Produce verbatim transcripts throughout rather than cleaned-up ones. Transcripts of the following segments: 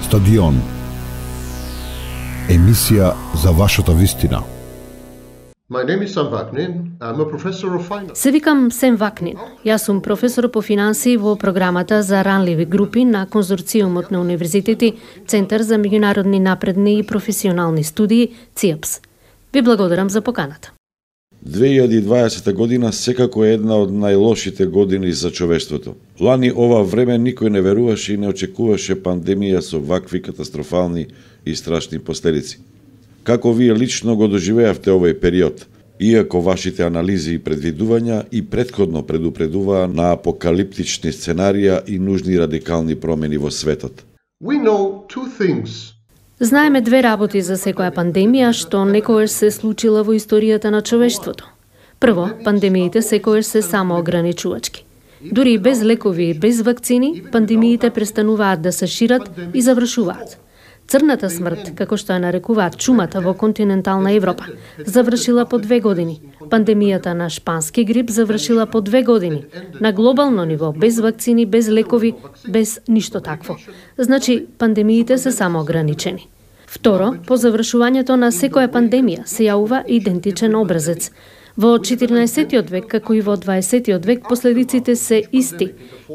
Стадион. Емисија за вашата вистина. My name is Sam Vaknin. I'm a professor of finance. Се викам Сем Вакнин. Јас сум професор по финансии во програмата за ранливи групи на конзорциумот на универзитети Центар за меѓународни напредни и професионални студии ЦИАПС. Ви благодарам за поканата. две илјади и дваесета година секако е една од најлошите години за човештвото. Лани ова време никој не веруваше и не очекуваше пандемија со вакви катастрофални и страшни последици. Како вие лично го доживеавте овој период, иако вашите анализи и предвидувања и претходно предупредуваа на апокалиптични сценарија и нужни радикални промени во светот? We know two things. Знаеме две работи за секоја пандемија што некогаш се случила во историјата на човештвото. Прво, пандемиите секогаш се самоограничувачки. Дури и без лекови и без вакцини, пандемиите престануваат да се шират и завршуваат. Црната смрт, како што ја нарекуваат чумата во континентална Европа, завршила по две години. Пандемијата на шпански грип завршила по две години. На глобално ниво, без вакцини, без лекови, без ништо такво. Значи, пандемиите се самоограничени. Второ, по завршувањето на секоја пандемија се јавува идентичен образец. Во четиринаесеттиот век, како и во дваесеттиот век, последиците се исти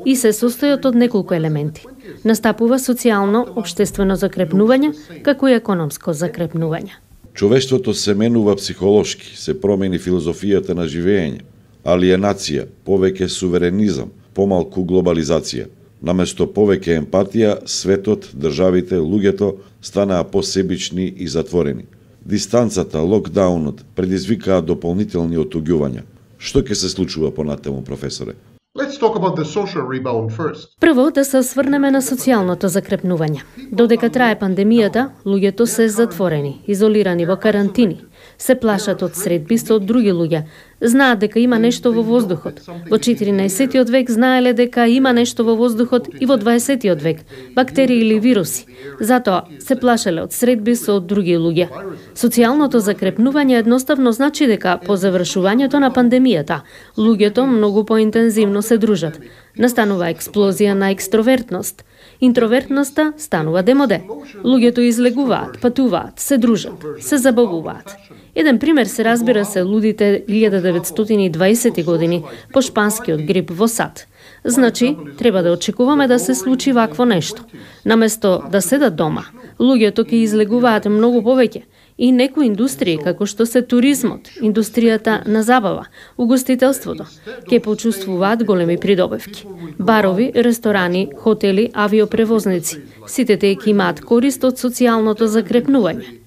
и се состојат од неколку елементи. Настапува социјално, обштествено закрепнување, како и економско закрепнување. Човештвото се менува психолошки, се промени филозофијата на живење, алиенација, повеќе суверенизам, помалку глобализација. Наместо повеќе емпатија, светот, државите, луѓето станаа посебични и затворени. Дистанцата, локдаунот предизвикаа дополнителни отуѓувања. Што ќе се случува понатаму, професоре? Let's talk about the social rebound first. Прво да се осврнеме на социјалното закрепнување. Додека трае пандемијата, луѓето се затворени, изолирани во карантини. Се плашат од средби со други луѓе. Знаат дека има нешто во воздухот. Во четиринаесеттиот век знаеле дека има нешто во воздухот и во дваесеттиот век, бактерии или вируси. Затоа се плашеле од средби со други луѓе. Социјалното закрепнување едноставно значи дека по завршувањето на пандемијата, луѓето многу поинтензивно се дружат. Настанува експлозија на екстровертност. Интровертноста станува демоде. Луѓето излегуваат, патуваат, се дружат, се забавуваат. Еден пример се разбира се лудите илјада деветстотини и дваесети години по шпанскиот грип во САД. Значи, треба да очекуваме да се случи вакво нешто. Наместо да седат дома, луѓето ќе излегуваат многу повеќе. И некои индустрии, како што се туризмот, индустријата на забава, угостителството, ќе почувствуваат големи придобивки. Барови, ресторани, хотели, авиопревозници, сите тие ќе имаат корист од социјалното закрепнување.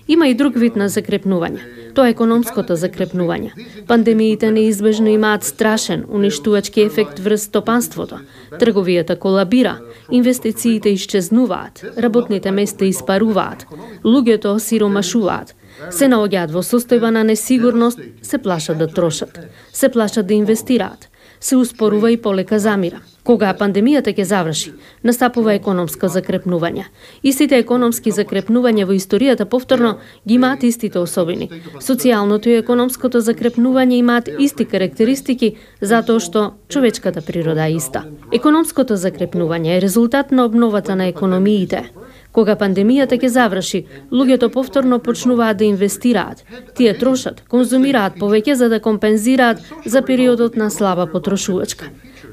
Има и друг вид на закрепнување. Тоа е економското закрепнување. Пандемиите неизбежно имаат страшен, уништувачки ефект врз стопанството. Трговијата колабира, инвестициите исчезнуваат, работните места испаруваат, луѓето осиромашуваат, се наоѓаат во состојба на несигурност, се плашат да трошат, се плашат да инвестираат, се успорува и полека замира. Кога пандемијата ќе заврши, настапува економско закрепнување. Истите економски закрепнувања во историјата повторно ги имаат истите особини. Социјалното и економското закрепнување имаат исти карактеристики затоа што човечката природа е иста. Економското закрепнување е резултат на обновата на економиите. Кога пандемијата ќе заврши, луѓето повторно почнуваат да инвестираат. Тие трошат, конзумираат повеќе за да компензираат за периодот на слаба потрошувачка.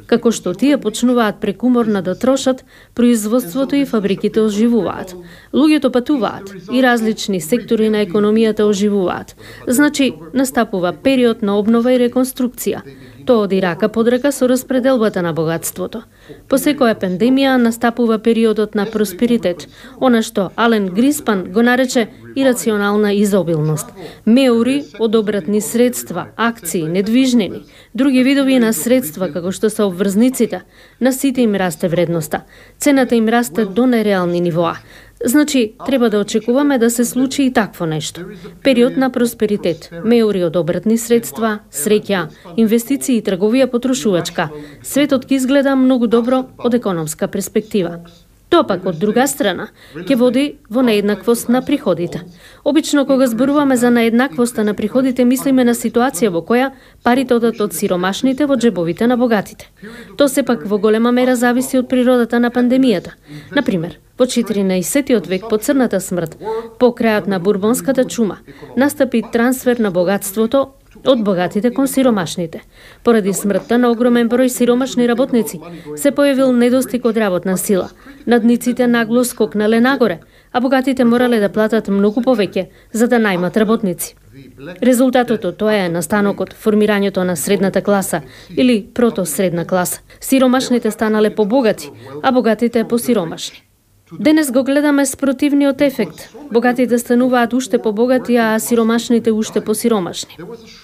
Како што тие почнуваат прекуморно да трошат, производството и фабриките оживуваат. Луѓето патуваат и различни сектори на економијата оживуваат. Значи, настапува период на обнова и реконструкција. Тоа оди рака под рака со распределбата на богатството. По секоја пандемија настапува периодот на просперитет, она што Ален Гриспан го нарече ирационална изобилност. Меури, одобратни средства, акции, недвижнини, други видови на средства како што се обврзниците, на сите им расте вредноста. Цената им расте до нереални нивоа. Значи, треба да очекуваме да се случи и такво нешто. Период на просперитет, меури од обратни средства, среќа, инвестиции и трговија потрошувачка. Светот ќе изгледа многу добро од економска перспектива. Тоа пак од друга страна ќе води во нееднаквост на приходите. Обично кога зборуваме за нееднаквоста на приходите, мислиме на ситуација во која парите одат од сиромашните во џебовите на богатите. Тоа сепак во голема мера зависи од природата на пандемијата. Например, во четиринаесеттиот век по црната смрт, по крајот на бурбонската чума, настапи трансфер на богатството од богатите кон сиромашните. Поради смртта на огромен број сиромашни работници се појавил недостиг од работна сила. Надниците нагло скокнале нагоре, а богатите морале да платат многу повеќе за да најмат работници. Резултатот од тоа е настанокот, формирањето на средната класа или протосредна класа. Сиромашните станале побогати, а богатите посиромашни. Денес го гледаме спротивниот ефект. Богатите стануваат уште побогати, а сиромашните уште посиромашни.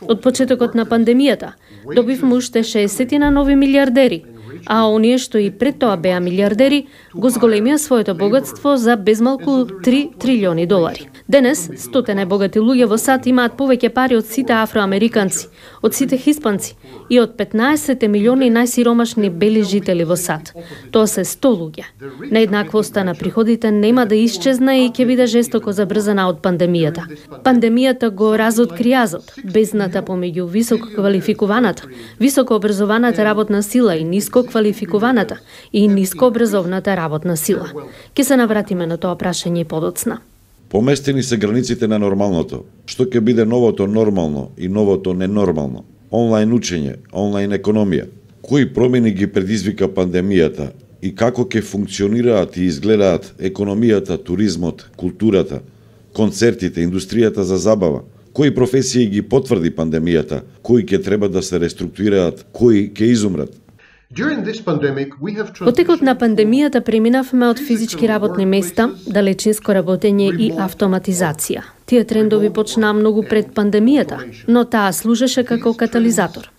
Од почетокот на пандемијата добивме уште шеесет на нови милиардери, а оние што и пред тоа беа милиардери го зголемија своето богатство за безмалку три трилиони долари. Денес, стотина богати луѓе во САД имаат повеќе пари од сите афроамериканци, од сите хиспанци и од петнаесет милиони најсиромашни бели жители во САД. Тоа се сто луѓе. Нееднаквоста на приходите нема да исчезне и ќе биде жестоко забрзана од пандемијата. Пандемијата го разоткри јазот, бездната помеѓу високо квалификуваната, високо образованата работна сила и ниско квалификуваната и ниско образовната работна сила. Ке се навратиме на тоа прашање подоцна. Поместени се границите на нормалното. Што ќе биде новото нормално и новото ненормално? Онлайн учење, онлайн економија. Кои промени ги предизвика пандемијата и како ќе функционираат и изгледаат економијата, туризмот, културата, концертите, индустријата за забава? Кои професии ги потврди пандемијата? Кои ќе треба да се реструктурираат? Кои ќе изумрат? Во текот на пандемијата преминавме од физички работни места, далечинско работење и автоматизација. Тие трендови почнаа многу пред пандемијата, но таа служеше како катализатор.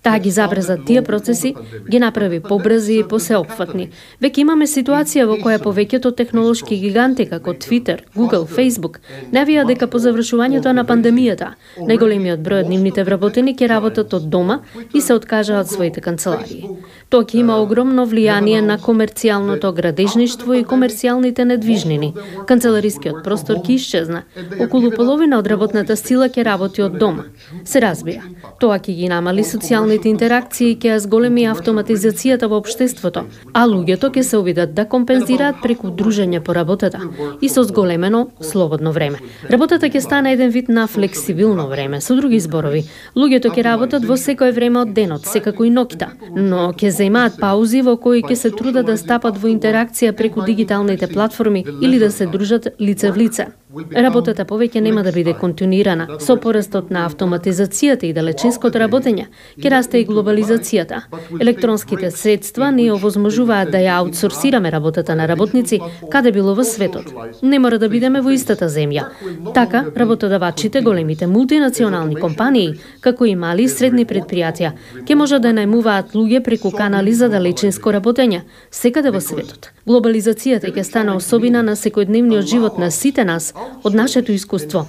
Таа ги забрза тие процеси, ги направи побрзи и посеопфатни. Веќе имаме ситуација во која повеќето технолошки гиганти како Twitter, Google, Facebook навија дека по завршувањето на пандемијата најголемиот број од нивните вработени ќе работат од дома и се откажаат своите канцеларии. Тоа ќе има огромно влијание на комерцијалното градежништво и комерцијалните недвижнини. Канцеларискиот простор ќе исчезне. Околу половина од работната сила ќе работи од дома. Се разбира, тоа ќе ги намали социјалните интеракции и ќе зголеми автоматизацијата во општеството, а луѓето ќе се обидат да компензираат преку дружење по работата и со зголемено слободно време. Работата ќе стане еден вид на флексибилно време, со други зборови. Луѓето ќе работат во секое време од денот, секако и ноќта, но ќе земаат паузи во кои ќе се трудат да стапат во интеракција преку дигиталните платформи или да се дружат лице в лице. Работата повеќе нема да биде континуирана. Со порастот на автоматизацијата и далечинското работење ќе расте и глобализацијата. Електронските средства ни овозможуваат да ја аутсорсираме работата на работници каде било во светот. Не мора да бидеме во истата земја. Така, работодавачите, големите мултинационални компании, како и мали и средни предпријатија, ќе можат да најмуваат луѓе преку канали за далечинско работење секаде во светот. Глобализацијата ќе стане особина на секојдневниот живот на сите нас од нашето искуство.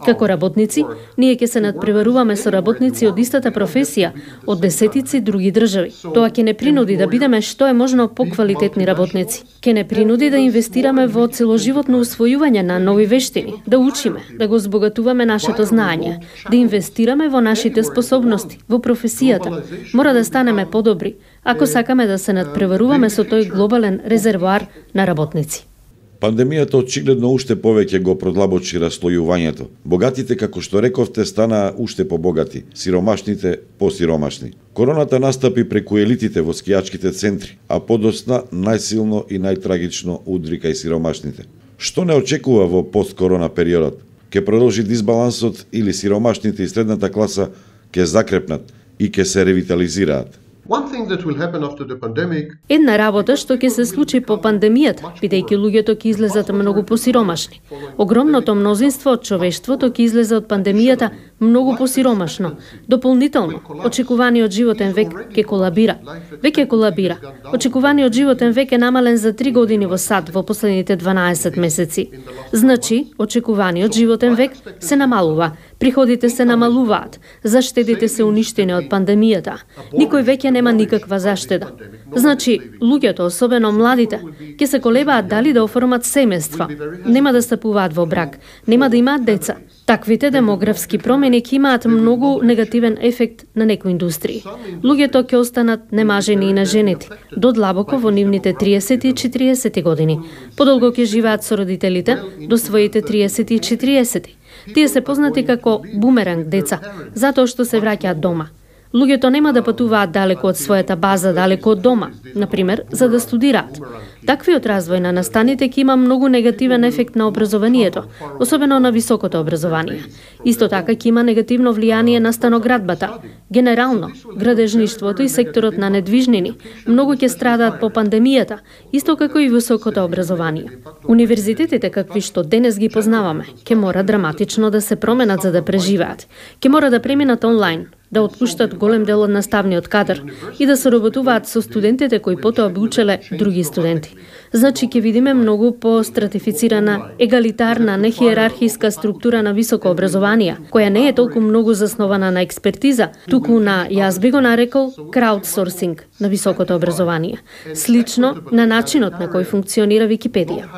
Како работници, ние ќе се надпреваруваме со работници од истата професија од десетици други држави. Тоа ќе не принуди да бидеме што е можно поквалитетни работници. Ќе не принуди да инвестираме во целоживотно усвојување на нови вештини, да учиме, да го збогатуваме нашето знаење, да инвестираме во нашите способности, во професијата. Мора да станеме подобри, ако сакаме да се надпреваруваме со тој глобален резервоар на работници. Пандемијата очигледно уште повеќе го продлабочи раслојувањето. Богатите, како што рековте, станаа уште побогати, сиромашните посиромашни. Короната настапи преку елитите во скијачките центри, а подосна најсилно и најтрагично удри кај сиромашните. Што не очекува во посткорона периодот? Ке продолжи дисбалансот или сиромашните и средната класа ке закрепнат и ке се ревитализираат? Една работа што ќе се случи по пандемијата, бидејќи луѓето ќе излезат многу посиромашни. Огромното мнозинство од човештвото ќе излезе од пандемијата многу посиромашно. Дополнително, очекуваниот животен век ќе колабира. Веќе колабира. Очекуваниот животен век е намален за три години во САД во последните дванаесет месеци. Значи, очекуваниот животен век се намалува. Приходите се намалуваат, заштедите се уништени од пандемијата. Никој веќе нема никаква заштеда. Значи, луѓето, особено младите, ќе се колебаат дали да оформат семејства, нема да стапуваат во брак, нема да имаат деца. Таквите демографски промени ќе имаат многу негативен ефект на некои индустрии. Луѓето ќе останат немажени и наженети, до длабоко во нивните триесети и четириесети години. Подолго ќе живеат со родителите до своите триесети и четириесети. Тие се познати како бумеранг деца, затоа што се враќаат дома. Луѓето нема да патуваат далеко од својата база, далеко од дома, например, за да студираат. Таквиот развој на настаните ќе има многу негативен ефект на образованието, особено на високото образование. Исто така ќе има негативно влијание на станоградбата. Генерално, градежништвото и секторот на недвижнини многу ќе страдаат по пандемијата, исто како и високото образование. Универзитетите какви што денес ги познаваме, ќе мора драматично да се променат за да преживеат. Ќе мора да преминат онлайн, да отпуштат голем дел од наставниот кадар и да соработуваат со студентите кои потоа би учеле други студенти. Значи ќе видиме многу по-стратифицирана, егалитарна, нехиерархиска структура на високо образование, која не е толку многу заснована на експертиза, туку на, јас би го нарекол, краудсорсинг на високото образование, слично на начинот на кој функционира Википедија.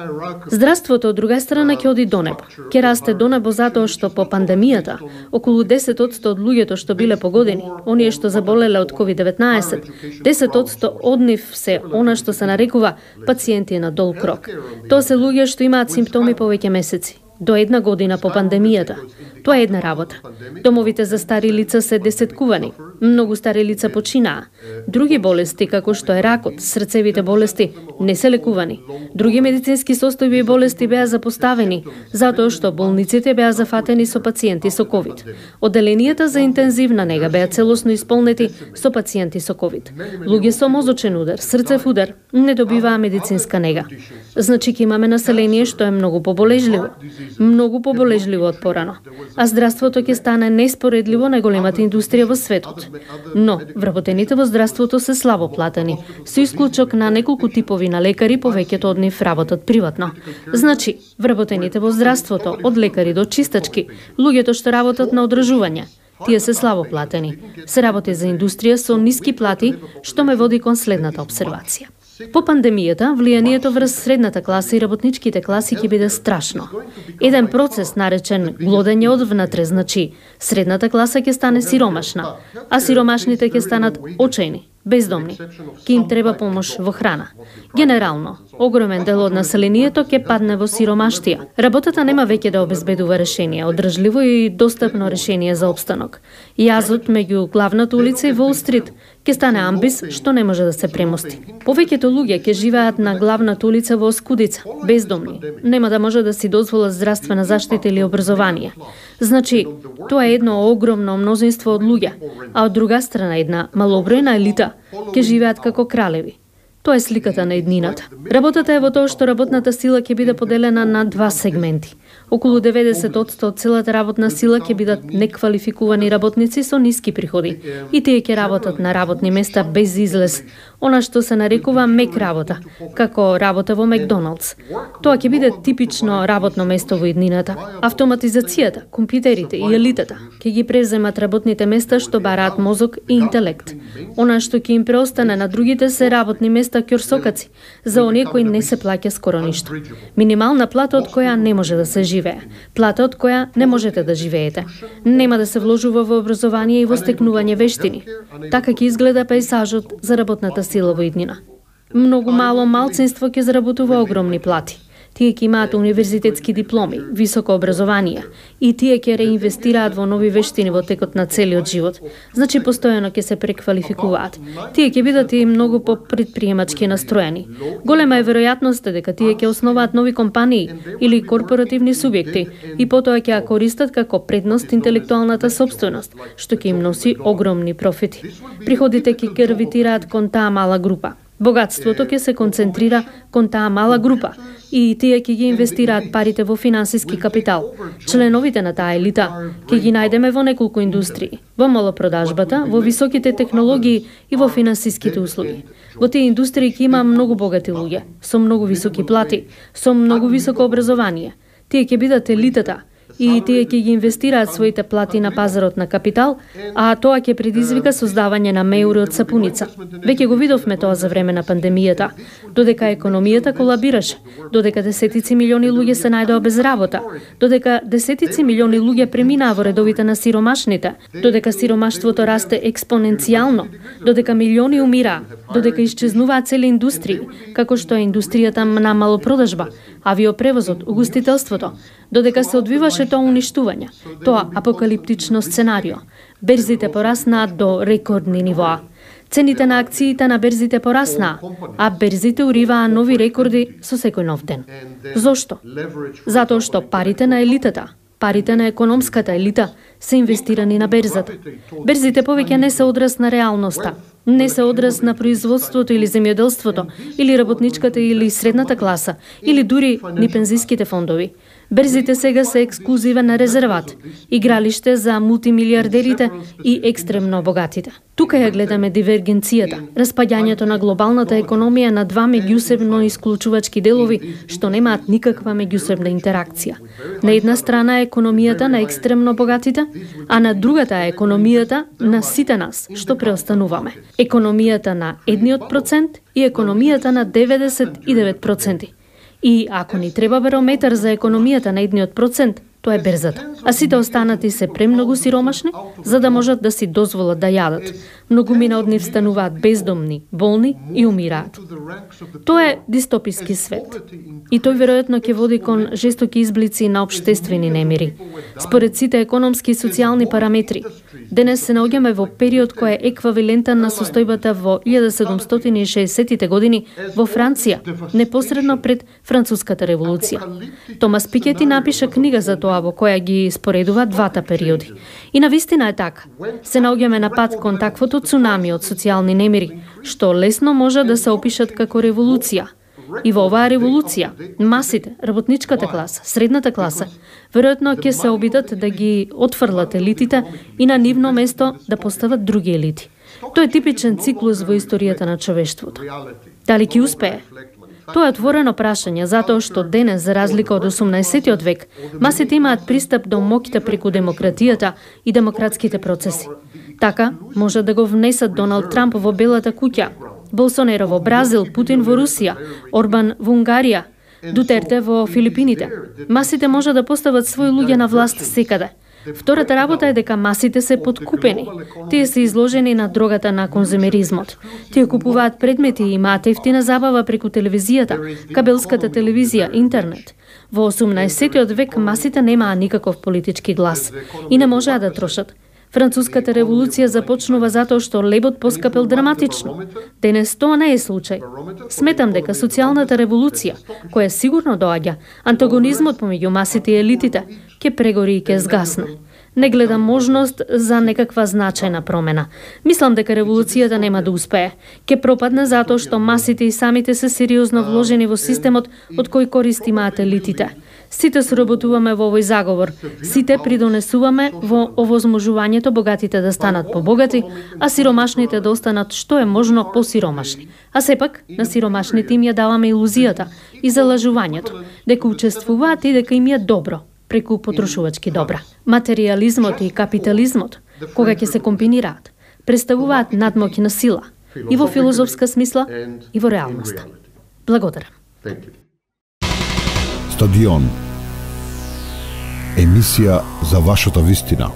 Здравството од друга страна ќе оди до небо. Ќе расте до небо затоа што по пандемијата околу десет одсто од луѓето што биле погодени, оние што заболеле од ковид деветнаесет, десет одсто од нив се она што се нарекува пациенти на дол крок. Тоа се луѓе што имаат симптоми повеќе месеци, до една година по пандемијата. Тоа е една работа. Домовите за стари лица се десеткувани. Многу стари лица починаа. Други болести, како што е ракот, срцевите болести, не се лекувани. Други медицински состојби и болести беа запоставени, затоа што болниците беа зафатени со пациенти со ковид. Оделенијата за интензивна нега беа целосно исполнети со пациенти со ковид. Луѓе со мозочен удар, срцев удар, не добиваа медицинска нега. Значи ќе имаме население што е многу поболежливо. Многу поболежливо од порано. А здравството ќе стане неспоредливо најголемата индустрија во светот. Но, вработените во здравството се слабо платени, со исклучок на неколку типови на лекари, повеќето од нив работат приватно. Значи, вработените во здравството, од лекари до чистачки, луѓето што работат на одржување, тие се слабо платени. Се работи за индустрија со ниски плати, што ме води кон следната обсервација. По пандемијата, влијанието врз средната класа и работничките класи ќе биде страшно. Еден процес наречен глодење одвнатре, значи средната класа ќе стане сиромашна, а сиромашните ќе станат очајни, бездомни. Ке им треба помош во храна. Генерално, огромен дел од населението ќе падне во сиромаштија. Работата нема веќе да обезбедува решение, одржливо и достапно решение за обстанок. Јазот меѓу главната улица и Волл Стрит ќе стане амбис што не може да се премости. Повеќето луѓе ќе живеат на главната улица во оскудица, бездомни. Нема да може да си дозволат здравствена заштита или образование. Значи, тоа е едно огромно мнозинство од луѓе, а од друга страна една малобројна елита ќе живеат како кралеви. Тоа е сликата на еднината. Работата е во тоа што работната сила ќе биде поделена на два сегменти. Околу деветдесет одсто од целата работна сила ќе бидат неквалификувани работници со ниски приходи и тие ќе работат на работни места без излез, она што се нарекува мек работа, како работа во Макдоналдс. Тоа ќе биде типично работно место во еднината. Автоматизацијата, компјутерите и елитата ќе ги преземат работните места што бараат мозок и интелект. Она што ќе им преостане на другите се работни места ќорсокаци, за оние кои не се плаќа скоро ништо. Минимална плата од која не може да се живее, плата од која не можете да живеете. Нема да се вложува во образование и во стекнување вештини. Така ќе изгледа пейзажот за работната сила во иднина. Многу мало малцинство ќе заработува огромни плати. Тие ќе имаат универзитетски дипломи, високо образование и тие ќе реинвестираат во нови вештини во текот на целиот живот. Значи постојано ќе се преквалификуваат. Тие ќе бидат и многу попредприемачки настроени. Голема е веројатноста дека тие ќе основаат нови компании или корпоративни субјекти и потоа ќе ја користат како предност интелектуалната сопственост, што ќе им носи огромни профити. Приходите ќе гравитираат кон таа мала група. Богатството ќе се концентрира кон таа мала група и тие ќе ги инвестираат парите во финансиски капитал. Членовите на таа елита ќе ги најдеме во неколку индустрии, во малопродажбата, во високите технологии и во финансиските услуги. Во тие индустрии ќе има многу богати луѓе, со многу високи плати, со многу високо образование. Тие ќе бидат елитата и тие ќе ги инвестираат своите плати на пазарот на капитал, а тоа ќе предизвика создавање на меури од сапуница. Веќе го видовме тоа за време на пандемијата, додека економијата колабираше, додека десетици милиони луѓе се најдоа без работа, додека десетици милиони луѓе преминаа во редовите на сиромашните, додека сиромаштвото расте експоненцијално, додека милиони умираа, додека исчезнуваат цели индустрии, како што е индустријата на малопродажба, авиопревозот, угостителството, додека се одвиваше тоа уништување, тоа апокалиптично сценарио. Берзите пораснаа до рекордни нивоа. Цените на акциите на берзите пораснаа, а берзите уриваа нови рекорди со секој нов ден. Зошто? Затоа што парите на елитата, парите на економската елита се инвестирани на берзата. Берзите повеќе не се одраз на реалноста, не се одраз на производството или земјоделството, или работничката или средната класа, или дури ни пензиските фондови. Берзите сега се ексклузивен резерват, игралиште за мултимилиардерите и екстремно богатите. Тука ја гледаме дивергенцијата, распаѓањето на глобалната економија на два меѓусебно исклучувачки делови што немаат никаква меѓусебна интеракција. На една страна е економијата на екстремно богатите, а на другата е економијата на сите нас што преостануваме. Економијата на едниот процент и економијата на деветдесет и девет проценти. И ако ни треба барометар за економијата на едниот процент, тоа е берзата. А сите останати се премногу сиромашни, за да можат да си дозволат да јадат. Многумина од нив стануваат бездомни, болни и умираат. Тоа е дистописки свет. И тој веројатно ќе води кон жестоки изблици на општествени немири. Според сите економски и социјални параметри, денес се наоѓаме во период кој е еквивалентен на состојбата во илјада седумстотини и шеесеттите години во Франција, непосредно пред Француската револуција. Томас Пикети напиша книга за тоа во која ги споредува двата периоди. И навистина е така. Се наоѓаме на пат кон таквото цунами од социјални немири, што лесно може да се опишат како револуција. И во оваа револуција, масите, работничката класа, средната класа, веројатно ќе се обидат да ги отфрлат елитите и на нивно место да постават други елити. Тоа е типичен циклус во историјата на човештвото. Дали ќе успее? Тоа е отворено прашање, затоа што денес, за разлика од осумнаесеттиот век, масите имаат пристап до моќта преку демократијата и демократските процеси. Така, може да го внесат Доналд Трамп во Белата куќа, Болсонеро во Бразил, Путин во Русија, Орбан во Унгарија, Дутерте во Филипините. Масите може да постават своји луѓе на власт секаде. Втората работа е дека масите се подкупени. Тие се изложени на дрогата на конзумеризмот. Тие купуваат предмети и имаат ефтина забава преку телевизијата, кабелската телевизија, интернет. Во осумнаесеттиот век масите немаа никаков политички глас и не можеа да трошат. Француската револуција започнува затоа што лебот поскапел драматично. Денес тоа не е случај. Сметам дека социјалната револуција, која сигурно доаѓа, антагонизмот помеѓу масите и елитите, ќе прегори и ќе згасне. Не гледам можност за некаква значајна промена. Мислам дека револуцијата нема да успее. Ќе пропадне затоа што масите и самите се сериозно вложени во системот од кој корист имаат елитите. Сите соработуваме во овој заговор. Сите придонесуваме во овозможувањето богатите да станат побогати, а сиромашните да останат што е можно посиромашни. А сепак, на сиромашните им ја даваме илузијата и залажувањето, дека учествуваат и дека им е добро преку потрошувачки добра. Материјализмот и капитализмот, кога ќе се комбинираат, представуваат надмоќ на сила и во филозофска смисла и во реалноста. Благодарам. Стадион. Емисија за вашата вистина.